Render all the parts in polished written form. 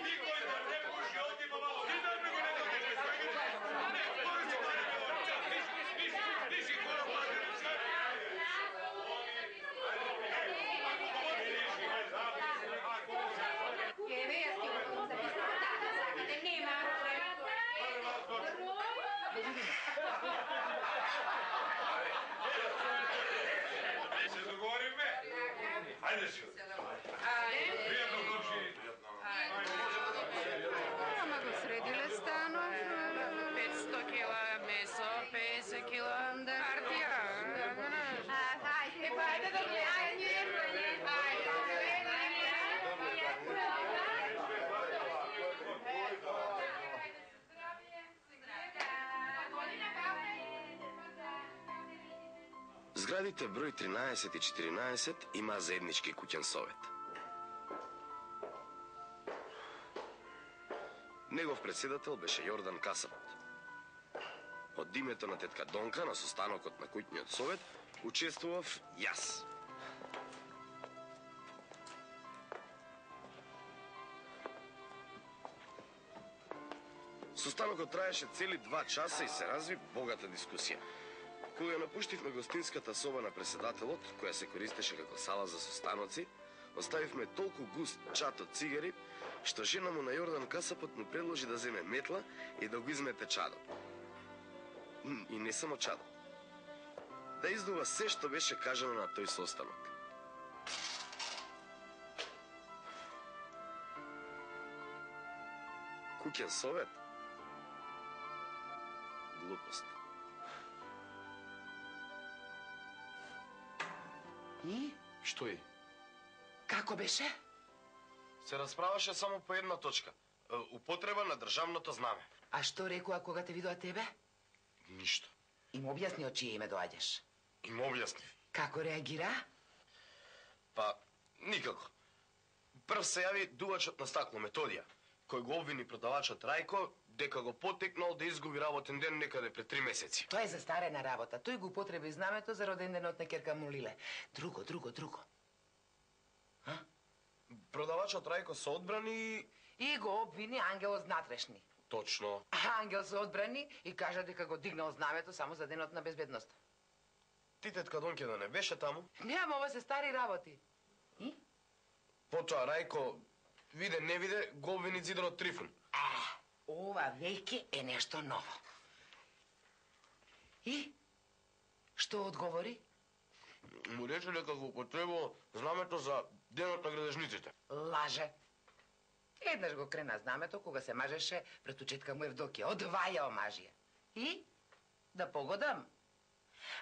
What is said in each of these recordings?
Никој да не пуши овде по мало. Ти да ме го не дадеш. Виши хора пазари. Еве, јас ќе го запишам тата, сакате, нема проблем. Се договориме? Хајде си. Пријатно, комши. Ама го средиле станов. 500 кила месо, 50 кила партија. Хајде, хајде да гледаме. Зградите број 13 и 14 има заеднички куќен совет. Негов председател беше Јордан Касапот. Од името на тетка Донка на состанокот на куќниот совет учествував јас. Состанокот траеше цели 2 часа и се разви богата дискусија. Кога ја напуштивме гостинската соба на председателот, која се користеше како сала за состаноци, оставивме толку густ чат од цигари, што жена му на Јордан Касапот му предложи да земе метла и да го измете чадот. И не само чадот. Да издува се што беше кажано на тој состанок. Куќен совет? Глупост. И? Што е? Како беше? Се расправаше само по една точка. Употреба на државното знаме. А што рекоа кога те видоа тебе? Ништо. Им објасни од чие име доаѓаш. Им објаснив. Како реагира? Па, никако. Прв се јави дувачот на стакло Методија, кој го обвини продавачот Рајко дека го потекнал да изгуби работен ден некаде пред 3 месеци. Тоа е застарена работа. Тој го употреби знамето за роден денот на ќерка му Лиле. Друго. А? Продавачот Рајко се одбрани И го обвини Ангел од внатрешни. точно. А Ангел се одбрани и кажа дека го дигнал знамето само за денот на безбедност. Ти тетка Донке да не беше таму? Нема, ова се стари работи. И? Потоа Рајко, виде не виде, го обвини Зидорот Трифун. Ова веќе е нешто ново. И? Што одговори? Му рече дека го употребувал знамето за денот на градежниците. Лаже. Еднаш го крена знамето кога се мажеше пред учетка му Евдокија. Одваја омажија. И? Да погодам.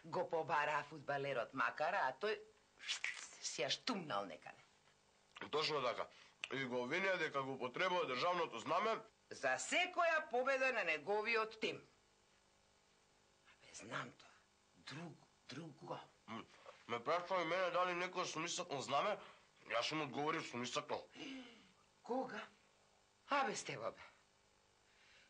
Го побара фудбалерот Макара, а тој си ја штумнал некаде. Точно така. И го обвинија дека го употребува државното знаме за секоја победа на неговиот тим. Абе, знам тоа. Друго. Ме прашува и мене дали некој сум истакнал знаме, јас сум одговорил сум истакнал. Кога? Абе, Стево, бе.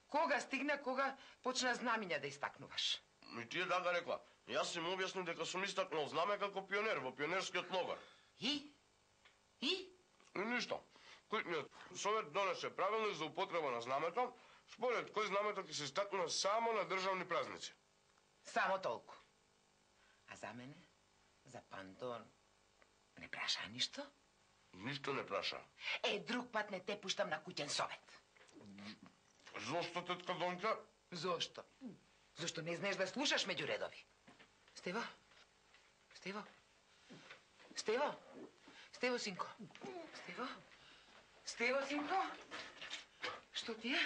Кога стигна, кога почна знамиња да истакнуваш? И тие така рекла. Јас им објаснив дека сум истакнал знаме како пионер во пионерскиот логор. И ништо. Куќниот совет донесе правилник за употреба на знамето, според кој знамето ќе се истакнува само на државни празници. Само толку. А за мене, за Пантон, не праша ништо? Ништо не праша. Друг пат не те пуштам на куќен совет. Зошто, тетка Донка? Зошто? Зошто не знаеш да слушаш меѓу редови? Стево, синко. Стево, синко. Што ти е?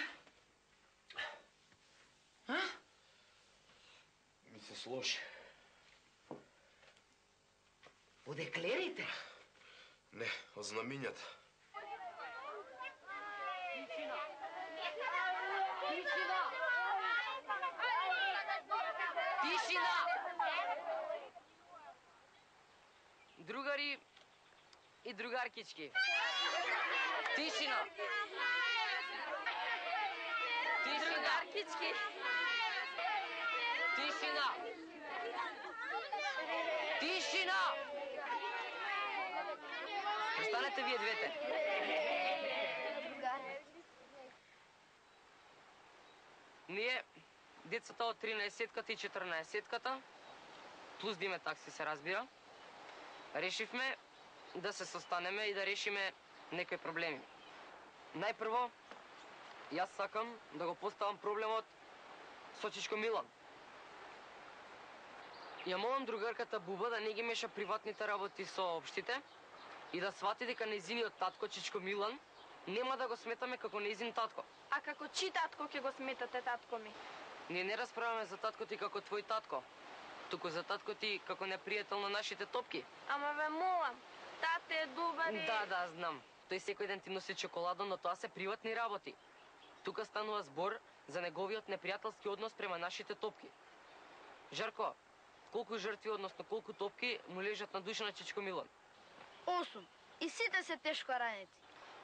А? Ми се сложи. Од еклерите? Не, од знамињата. Тишина! Другари и другаркички. Тишина! Другаркички. Тишина! Престанете вие двете. Ние, децата од 13-ката и 14-ката, плюс диме такси се разбира, решивме да се состанеме и да решиме некои проблеми. Најпрво, јас сакам да го поставам проблемот со Чичко Милан. Ја молам другарката Буба да не ги меша приватните работи со општите и да свати дека нејзиниот татко Чичко Милан нема да го сметаме како нејзин татко. А како чи татко ќе го сметате татко ми? Ние не расправаме за татко ти како твој татко, туку за татко ти како непријател на нашите топки. Ама ве молам, тате е добар и... Да, знам. Тој секој ден ти носи чоколадо, но тоа се приватни работи. Тука станува збор за неговиот непријателски однос према нашите топки. Жарко, колку жртви, односно колку топки му лежат на душа на Чичко Милан? 8. И сите се тешко ранети.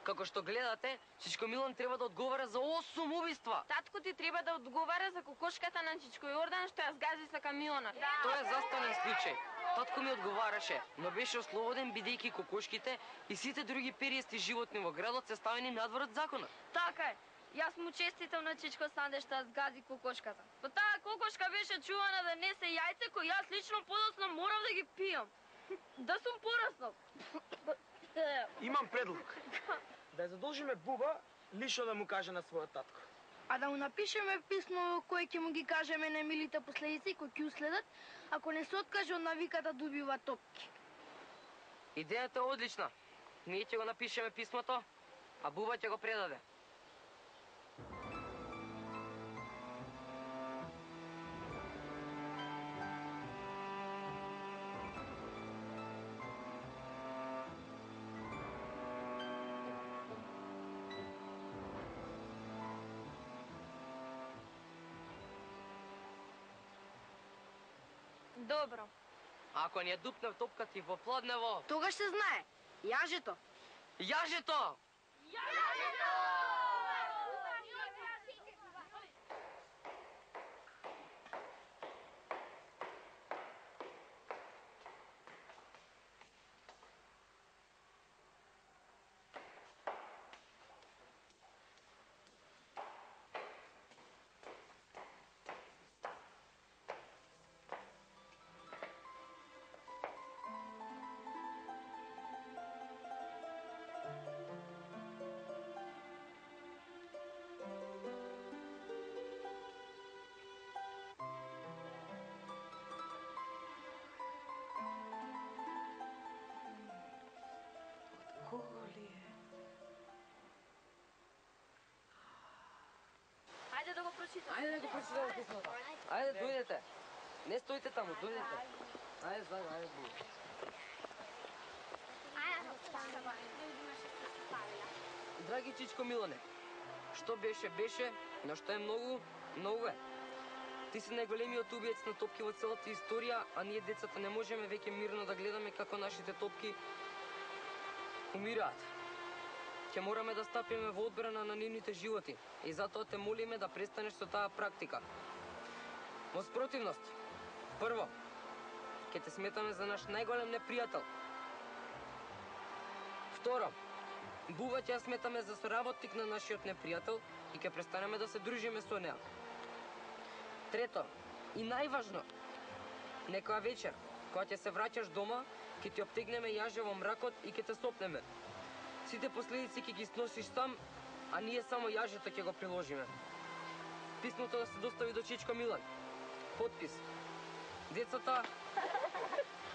Како што гледате, Чичко Милан треба да одговара за 8 убиства. Татко ти треба да одговара за кокошката на Чичко Јордан што ја згази со камионот. Тоа е застанен случај. Татко ми одговараше, но беше ослободен бидејќи кокошките и сите други периести животни во градот се ставени надвор од законот. Така е. Јас му честитам на Чичко Санде што ја згази кокошката. Па таа кокошка беше чувана да несе јајце кои јас лично подоцна морав да ги пијам. Да сум пораснал. Имам предлог. Да ја задолжиме Буба лично да му каже на својот татко. А да му напишеме писмо кое ќе му ги кажеме немилите последици кои ќе уследат ако не се откаже од навиката да убива топки. Идејата е одлична. Ние ќе го напишеме писмото, а Буба ќе го предаде. Добро. Ако ни ја дупне топка ти во пладнево... Тогаш се знае. Јажето. Јажето! Ајде да го прочитаме. Ајде да го прочитаме писмото. Ајде, дојдете. Не стоите таму, дојдете. Ајде, заедно, ајде. Драги Чичко Милане, што беше, но што е многу е. Ти си најголемиот убиец на топки во целата историја, а ние децата не можеме веќе мирно да гледаме како нашите топки умираат. Ќе мораме да стапиме во одбрана на нивните животи и затоа те молиме да престанеш со таа практика. Во спротивност, прво, ќе те сметаме за наш најголем непријател. Второ, Буба ќе ја сметаме за соработник на нашиот непријател и ќе престанеме да се дружиме со неа. Трето, и најважно, некоја вечер, кога ќе се враќаш дома, ќе ти обтегнеме јаже во мракот и ќе те сопнеме. Сите последици ќе ги сносиш сам, а ние само јажето ќе го приложиме. Писмото да се достави до Чичко Милан. Подпис. Децата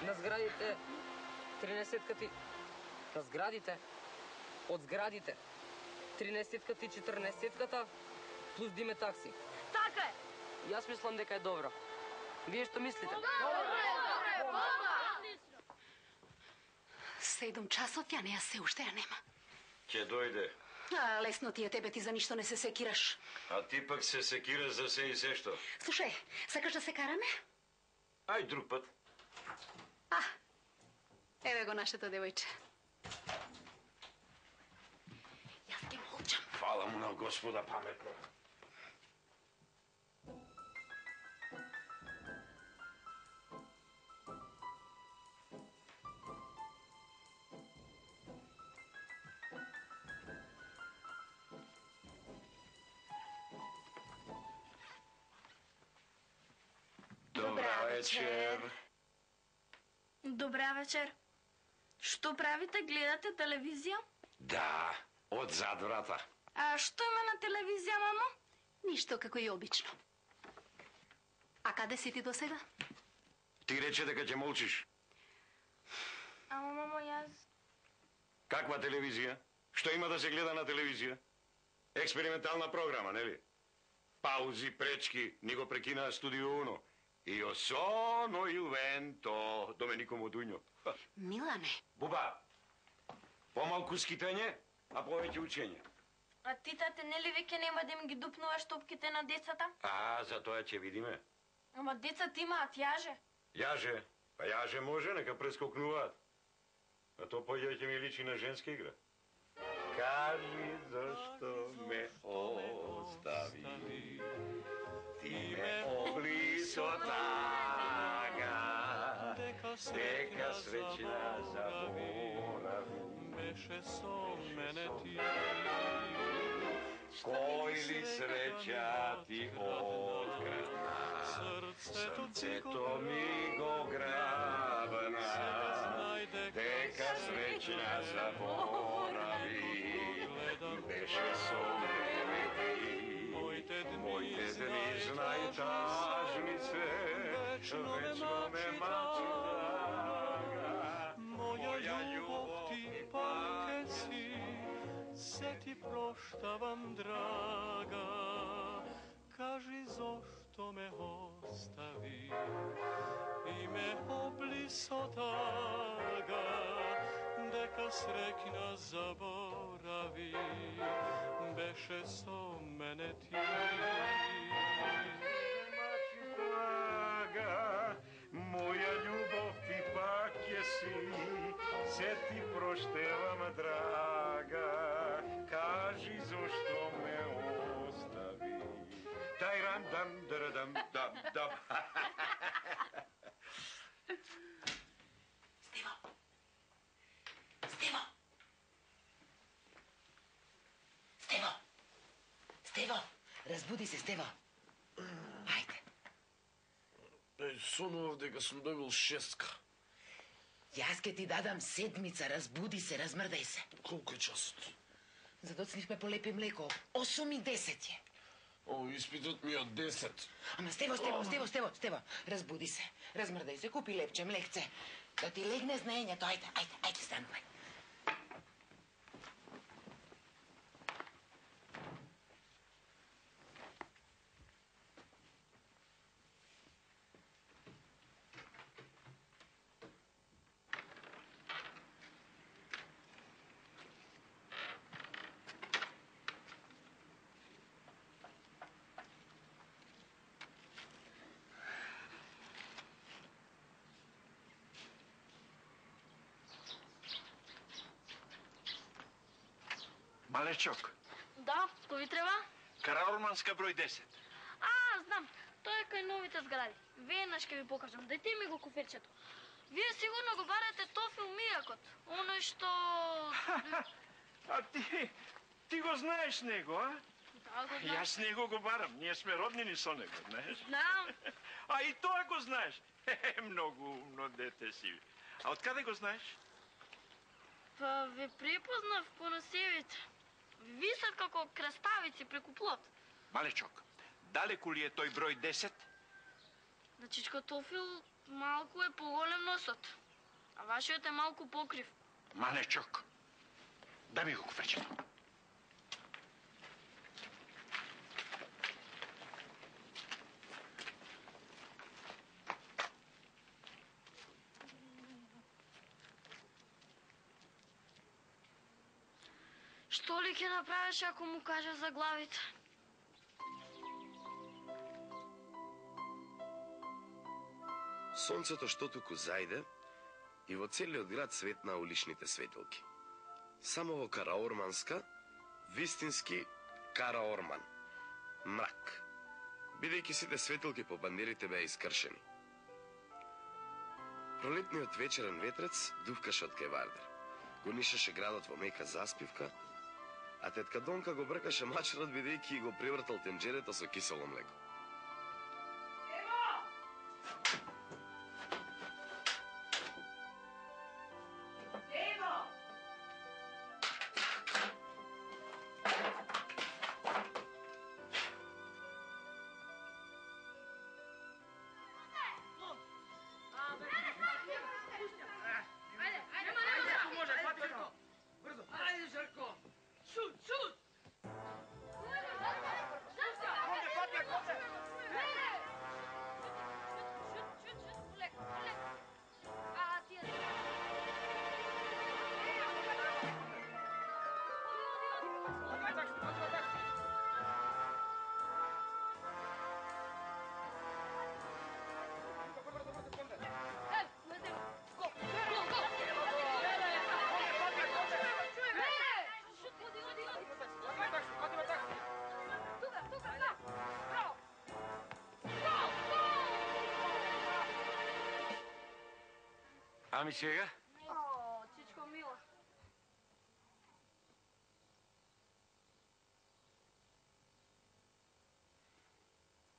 на зградите 13-ката на зградите од зградите 13-ката и 14-ката плюс диме такси. Така е. Јас мислам дека е добро. Вие што мислите? Добре. 7 часот, ја неа се уште ја нема. Ќе дојде. Лесно ти е, тебе ти за ништо не се секираш. А ти пак се секира за се и се што. Слушај, сакаш да се караме? Ај друг пат. Еве го нашето девојче. Јас ќе молчам. Фала му на Господа паметно. вечер. Добра вечер. Што правите? Гледате телевизија? Да, од зад врата. А што има на телевизија, мамо? Ништо како и обично. А каде си ти до сега? Ти рече дека ќе молчиш. Ама, мамо, јас... Каква телевизија? Што има да се гледа на телевизија? Експериментална програма, нели? Паузи, пречки, ни го прекинаа Студио Уно. Io sono il vento, Доменико Модуњо. Милане. Буба, помалку скитање, а повеќе учење. А ти, тате, нели веќе нема да им ги дупнуваш топките на децата? А, за тоа ќе видиме. Ама децата имаат јаже. Јаже? Па јаже може, нека прескокнуваат. А то појде ќе ми личи на женска игра. Кажи зашто ме остави, ти ме обли со тага, дека среќна заборави. Беше со мене ти. Кој ли среќа ти открна, срцето ми го грабна, дека среќна заборави. Беше со мене ти, моите дни знај тажни се, вечно ме мачудага. Моја љубов ти пак си, се ти проштавам, драга. Кажи зошто ме остави и ме обли со тага, дека среќна заборави. Беше со мене ти. Моја љубов ти пак ќе си, се ти проштевам, драга. Кажи зошто ме остави. Тајрам дам дам дам дам. Стево! Стево! Стево! Стево! Разбуди се, Стево! Ајде! Сонував дека сум добил 6. Јас ке ти дадам 7, разбуди се, размрдај се. Колку е часот? Задоцнивме по лепи млеко. 8:10 е. О, испитот ми е од 10. Ама Стево, разбуди се. Размрдај се, купи лепче, млекце. Да ти легне знаењето, ајде, станувај. Малечок, Да, што ви треба? Караорманска број 10. А, знам, тоа е кај новите згради. Веднаш ќе ви покажам, дајте ми го куферчето. Вие сигурно го барате Тофил Мијакот, оној што... А ти го знаеш него, а? Да, го знам. Јас него го барам, ние сме роднини со него, знаеш? Знам. А и тоа го знаеш? Многу умно дете си. А од каде го знаеш? Па ве препознав по носевите. Висат како краставици преку плот. Малечок, далеку ли е тој број 10? На Чичко Тофил малку е поголем носот, а вашиот е малку покрив. Малечок, дај ми го куфечето. Што ли ќе направиш ако му кажа за главите? Сонцето што туку зајде и во целиот град светна уличните светилки. Само во Караорманска, вистински Караорман. Мрак. Бидејќи сите светилки по бандерите беа искршени. Пролетниот вечерен ветрец дувкаше од кај Вардер. Го нишеше градот во мека заспивка, а тетка Донка го бркаше мачерот бидејќи го превртал тенџерето со кисело млеко. Ами сега? О, чичко мила.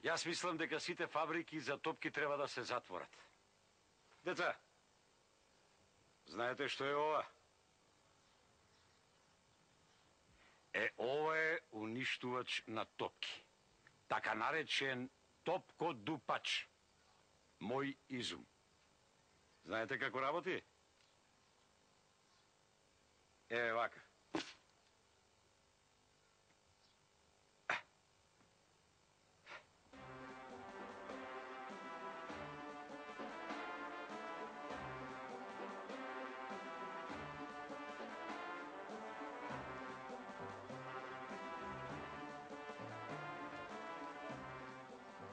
Јас мислам дека сите фабрики за топки треба да се затворат. Деца, знаете што е ова? Ова е уништувач на топки. Така наречен топкодупач. Мој изум. Знаете како работи? Вака.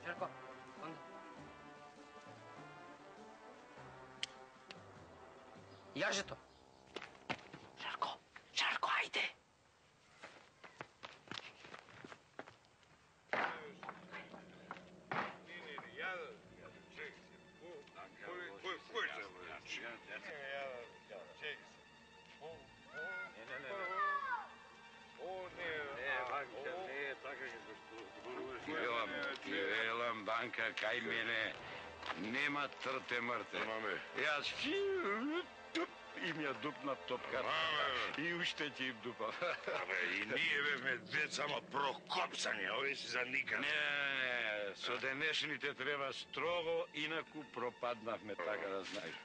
Жарко, онда. Јажето. Жарко, ајде. Велам, Банка, кај мене нема трте-мрте. Јас им ја дупна топката. И уште ќе им дупам. И ние бевме деца, ама прокопсани, овие си за никад. Не, со денешните треба строго, инаку пропаднавме, така да знаеш.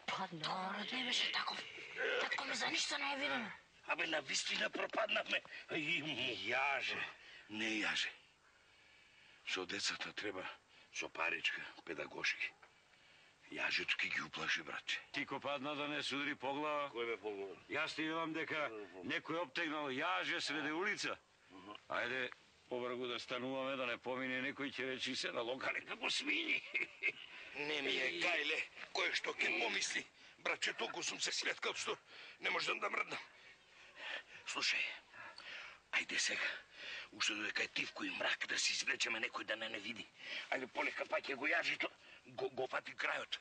Па народ не беше таков. Татко ме за ништо не е видено. Абе, на вистина пропаднавме. И јаже, не јаже. Со децата треба со паричка, педагошки. Јажето ки ги уплаши, братче. Ти ко падна да не судри по глава. Кој бе по глава? Јас ти велам дека некој обтегнал јаже среде улица. Ајде, побргу да стануваме, да не помине некој ќе речи се на локале како свињи. Не ми е гајле, кој што ќе помисли. Братче, толку сум се светкал што не можам да мрднам. Слушај, ајде сега, уште додека е тивко и мрак, да си извлечеме некој да не види. Ајде полека паќе го јажито, го фати крајот.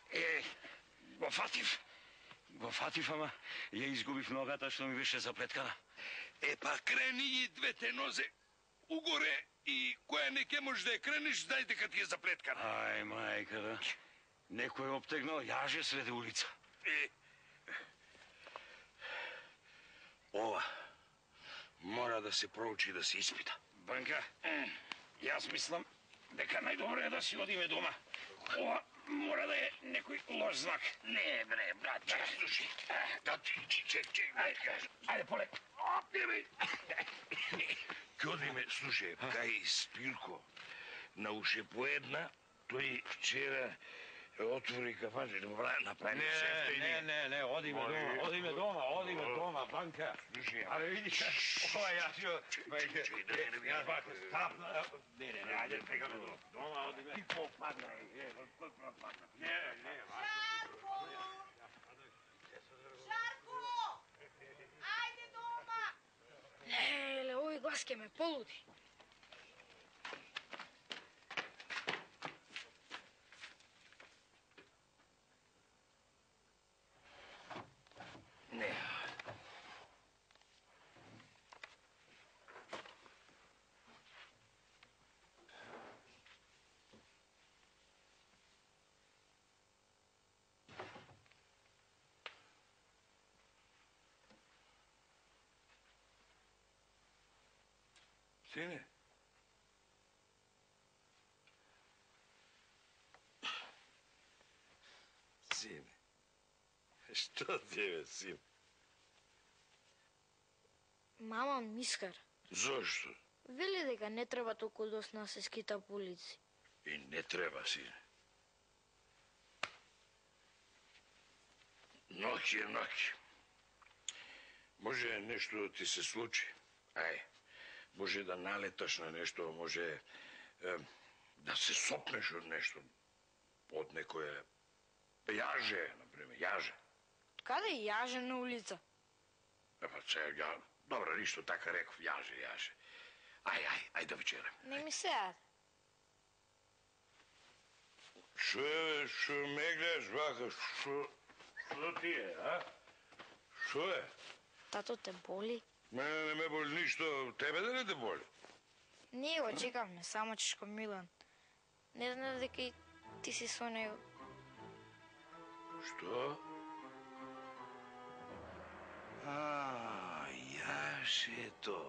Го фатив, ама ја изгубив ногата што ми беше заплеткана. Па крени и двете нозе угоре и која не ке можеш да ја крениш, знај дека ти е заплеткана. Ај, мајка, да. Некој обтегнал јаже среде улица. Ова мора да се проучи, да се испита. Банка, јас мислам дека најдобро е да си одиме дома. Ова мора да е некој лош знак. Не, бре, братче, слушай. Чек, Ајде, полек. Ке одиме, слушай, кај Спирко, на уше по една, тој вчера отвори кафанче, направи сефта и Не, одиме дома, Банка. Аре, види, ова јас ја... Јас бака стапна... Не, ајде, тегаме дома, одиме. Ти попадна, кој пропадна? Не, Жарко! Ајде дома! Леле, овој глас ке ме полуди. Не. Сине? Сине? Што ти е, син? Мама мискар. Зошто? Вели дека не треба толку досно да се скита по улици. И не треба, сине. Ноќ е ноќ. Може нешто да ти се случи. Може да налеташ на нешто, може да се сопнеш од нешто. Од некоја јаже, например, јаже. Каде јаже на улица? Па сега Добро, ништо, така реков, јаже. Ај да вечерам. Не ми се јаде. Шо ме гледаш вака, шо ти е, а? Шо е? Тато те боли? Мене не ме боли ништо, тебе да не те боли? Не го чекавме, само чешко Милан. Не знаеш дека и ти си со него. Што? Јашето.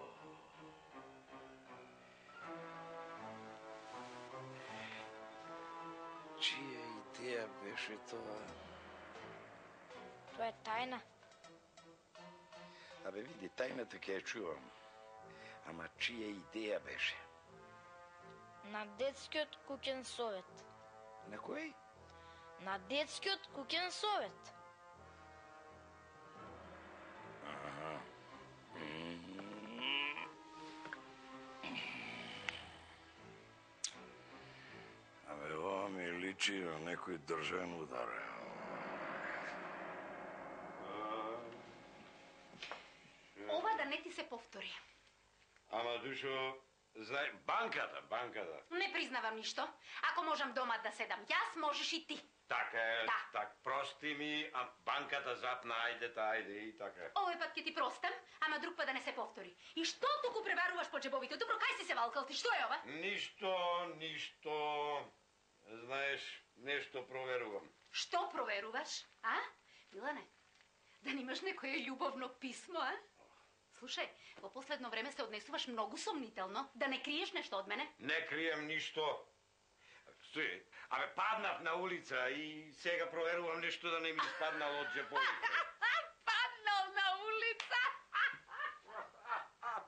Чија идеја беше тоа? Тоа е тајна. Абе, види, тајната ќе ја чувам. Ама чија идеја беше? На детскиот куќен совет. На кој? На детскиот куќен совет. Абе, ова ми личи на некој држан удар. Ова да не ти се повтори. Ама, Душо, знај, банката. Не признавам ништо. Ако можам дома да седам јас, можеш и ти. Така е, Да. так, прости ми, а банката запна, ајде и така е. Овој пат ќе ти простам, ама друг пат да не се повтори. И што туку пребаруваш по джебовите? Добро, кај си се валкал ти? Што е ова? Ништо. Знаеш, нешто проверувам. Што проверуваш, а? Милане, да немаш некое љубовно писмо, а? Слушај, во последно време се однесуваш многу сомнително. Да не криеш нешто од мене? Не крием ништо. Стои, абе, паднав на улица и сега проверувам нешто да не ми испаднало од джеповите. Паднал на улица!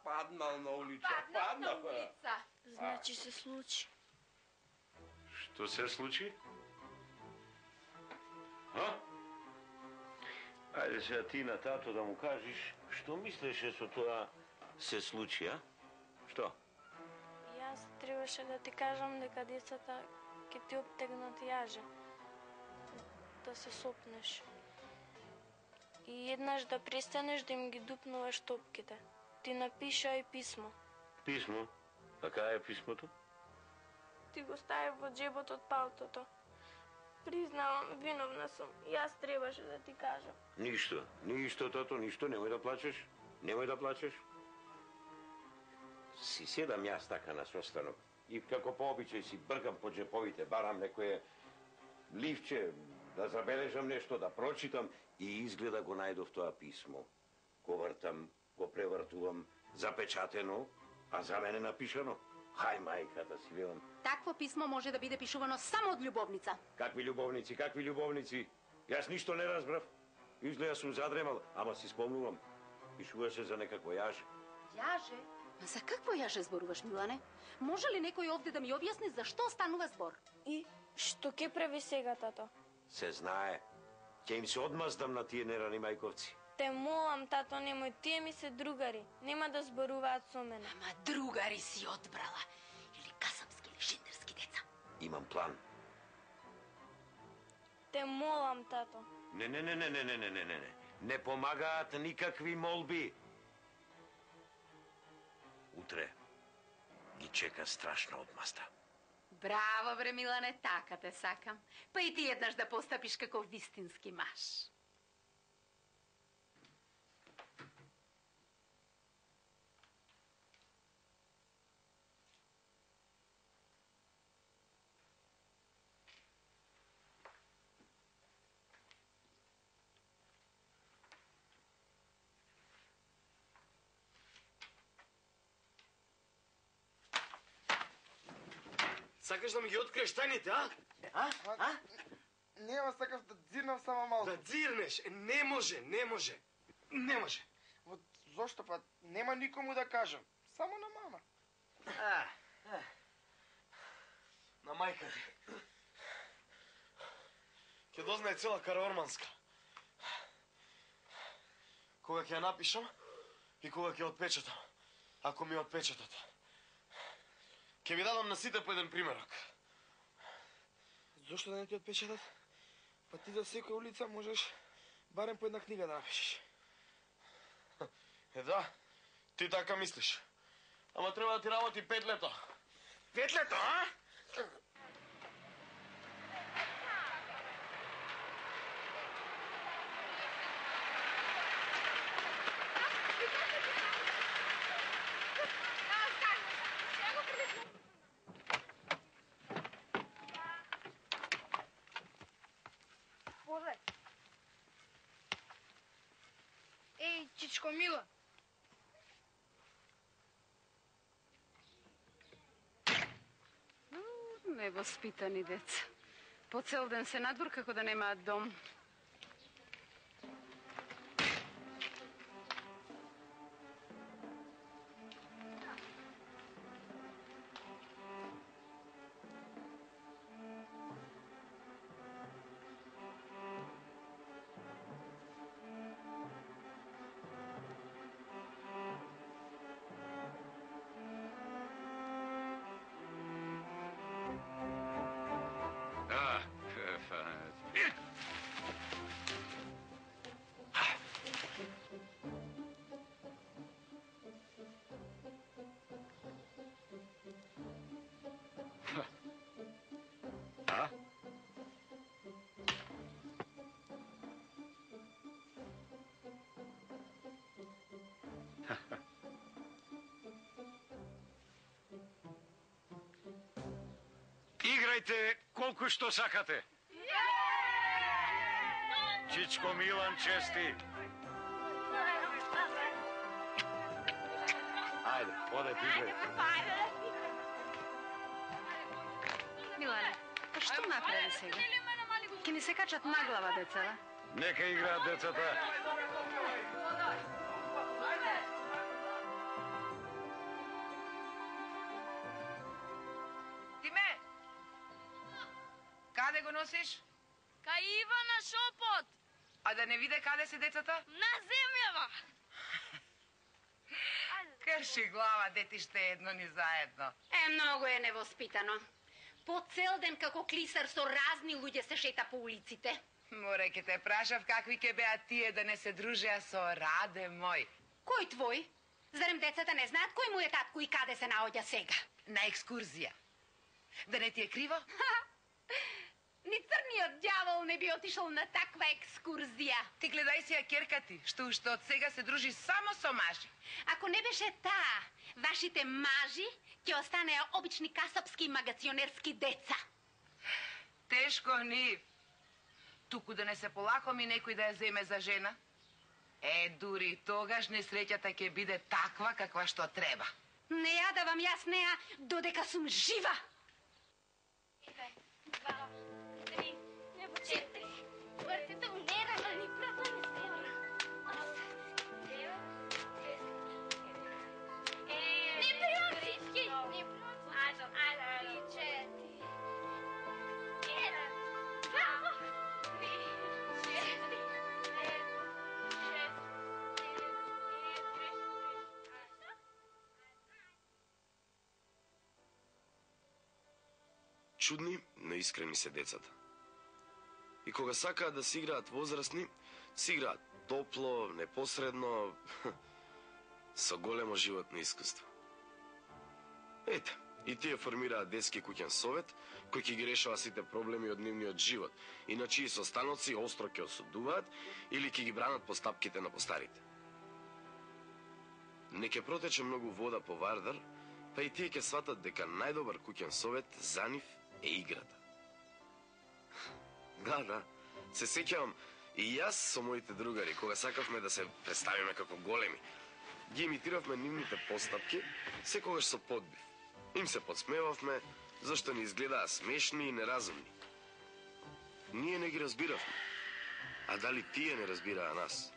Паднал на улица. На улица. Значи се случи. Што се случи? А? Ајде сега ти на тато да му кажеш што мислеше со тоа се случи, а? Што? Јас требаше да ти кажам дека децата ќе ти обтегнат јаже. Да се сопнеш. И еднаш да престанеш да им ги дупнуваш топките. Ти напишај писмо. Писмо? А кај е писмото? Ти го стави во джебот од палтото. Признавам, виновна сум. Јас требаше да ти кажам. Ништо, тато, ништо, немој да плачеш. Си седам јас така на состанок и како по обичај си бркам по джеповите, барам некое ливче, да забележам нешто, да прочитам и изгледа го најдов тоа писмо. Го вртам, го превртувам, запечатено, а за мене напишано. Хај мајката си велам. Такво писмо може да биде пишувано само од љубовница. Какви љубовници? Јас ништо не разбрав. Изгледа сум задремал, ама си спомнувам. Пишуваше за некакво јаже. Јаже? Ма за какво јаже зборуваш, Милане? Може ли некој овде да ми објасни за што станува збор? И што ќе прави сега, тато? Се знае. Ќе им се одмаздам на тие нерани мајковци. Те молам, тато, немој, тие ми се другари. Нема да зборуваат со мене. Ама другари си одбрала. Или касапски или шиндерски деца. Имам план. Те молам, тато. Не. Не помагаат никакви молби. Утре ги чека страшна одмазда. Браво, бре, Милане, така те сакам. Па и ти еднаш да постапиш како вистински маж. Сакаш да ми ги откриеш тајните, а? Нема, сакав да дзирнам само малку. Да дзирнеш? Не може. Вот зошто па нема никому да кажам, само на мама. На мајка ти. Ќе дознае цела Караорманска. Кога ќе ја напишам и кога ќе отпечатам. Ако ми отпечатат. Ќе ви дадам на сите по еден примерок. Зошто да не ти отпечатат? Па ти за секоја улица можеш барем по една книга да напишеш. Да, Ти така мислиш. Ама треба да ти работи 5 лето. 5 лето, а? Боже. Еј, чичко Мила. Невоспитани деца. По цел ден се надвор како да немаат дом. Играјте колку што сакате. Чичко Милан чести. Ајде, одете играјте. Милане, па што направи сега? Ке ни се качат на глава децата. Нека играат децата. Тиме! Каде го носиш? Кај Ивана шопот. А да не виде каде се децата? На земјава. Крши глава, детиште едно ни заедно. Многу е невоспитано. По цел ден како клисар со разни луѓе се шета по улиците. Море ке те прашав какви ке беа тие да не се дружеа со Раде мој. Кој твој? Зарем децата не знаат кој му е татко и каде се наоѓа сега? На екскурзија. Да не ти е криво? Ни црниот дјавол не би отишол на таква екскурзија. Ти гледај си ја керка ти, што уште од сега се дружи само со мажи. Ако не беше таа, вашите мажи ќе останеа обични касапски и магационерски деца. Тешко нив. Туку да не се полакоми некој да ја земе за жена. Дури тогаш несреќата ќе биде таква каква што треба. Не ја давам јас неа додека сум жива. 2, 3, 4. Вртите у нера, ни права не стена. 8, 9, 10. Не приотички. Не приотички. Ајде. 4. 1, 2, 3, 4, 5, 6, 7, 8. Чудни, но искрени се децата. И кога сакаат да си играат возрастни, си играат топло, непосредно, со големо животно искуство. Ете, и тие формираат детски куќен совет, кој ќе ги решава сите проблеми од нивниот живот, и на чии состаноци остро ќе осудуваат или ќе ги бранат постапките на постарите. Не ќе протече многу вода по Вардар, па и тие ќе сватат дека најдобар куќен совет за нив е играта. Да, се сеќавам и јас со моите другари, кога сакавме да се представиме како големи, ги имитиравме нивните постапки, секогаш со подбив. Им се подсмевавме, зашто ни изгледаа смешни и неразумни. Ние не ги разбиравме, а дали тие не разбираа нас?